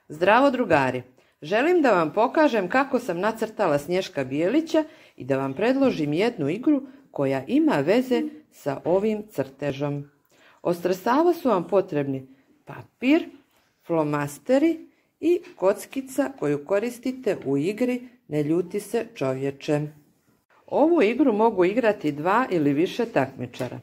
Zdravo drugari! Želim da vam pokažem kako sam nacrtala Snješka Bijelića i da vam predložim jednu igru koja ima veze sa ovim crtežom. Od sredstava su vam potrebni papir, flomasteri i kockica koju koristite u igri Ne ljuti se čovječe. Ovu igru mogu igrati 2 ili više takmičara.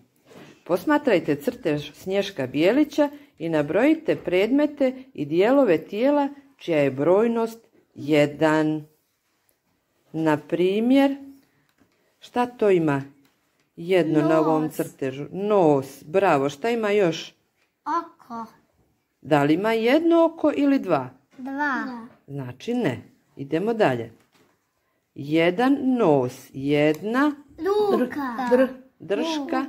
Posmatrajte crtež Snješka Bijelića i nabrojite predmete i dijelove tijela čija je brojnost 1. Na primjer, šta to ima? Jedno na ovom crtežu. Nos, bravo. Šta ima još? Oko. Da li ima jedno oko ili 2? 2. Znači ne. Idemo dalje. 1 nos, 1 drška.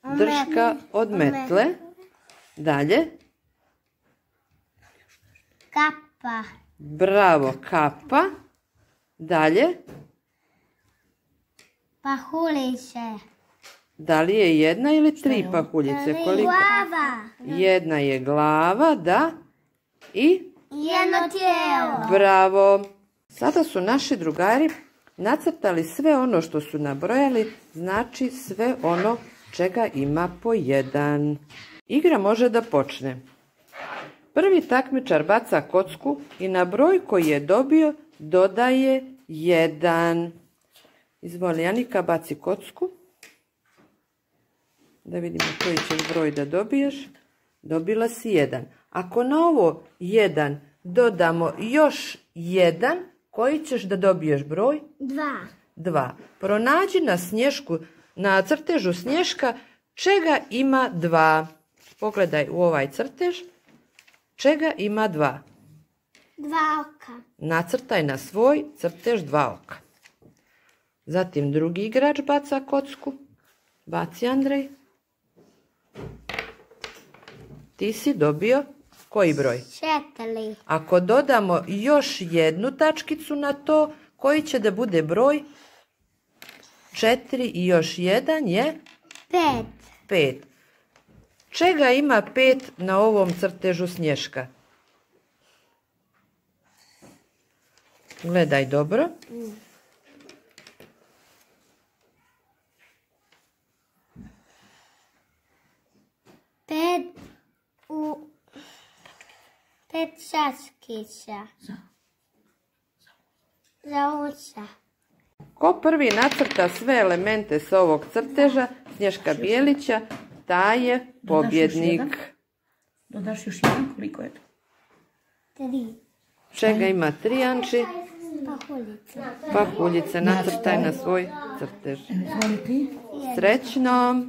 Drška od metle. Dalje. Kapa. Bravo, kapa. Dalje. Pahuljice. Da li je 1 ili 3 pahuljice? Koliko? Glava. 1 je glava, da. I? Jedno tijelo. Bravo. Sada su naši drugari nacrtali sve ono što su nabrojali, znači sve ono čega ima po 1. Igra može da počne. Prvi takmičar baca kocku i na broj koji je dobio dodaje 1. Izvoli, Anika, baci kocku. Da vidimo koji ćeš broj da dobiješ. Dobila si 1. Ako na ovo 1 dodamo još 1, koji ćeš da dobiješ broj? 2. Pronađi na crtežu Snješka čega ima 2. Pogledaj u ovaj crtež. Čega ima 2? 2 oka. Nacrtaj na svoj crtež 2 oka. Zatim drugi igrač baca kocku. Baci, Andrej. Ti si dobio koji broj? 4. Ako dodamo još jednu tačkicu na to, koji će da bude broj? 4 i još 1 je? 5. Čega ima 5 na ovom crtežu Snješka? Gledaj dobro. Pet časkića. Za uša. Ko prvi nacrta sve elemente s ovog crteža Snješka Bijelića, taj je pobjednik. Dodaš još 1, koliko je to? 3. Čega ima 3, Anči? Pahuljice. Pahuljice, nacrtaj na svoj crtež. Izvoli ti. Srećno!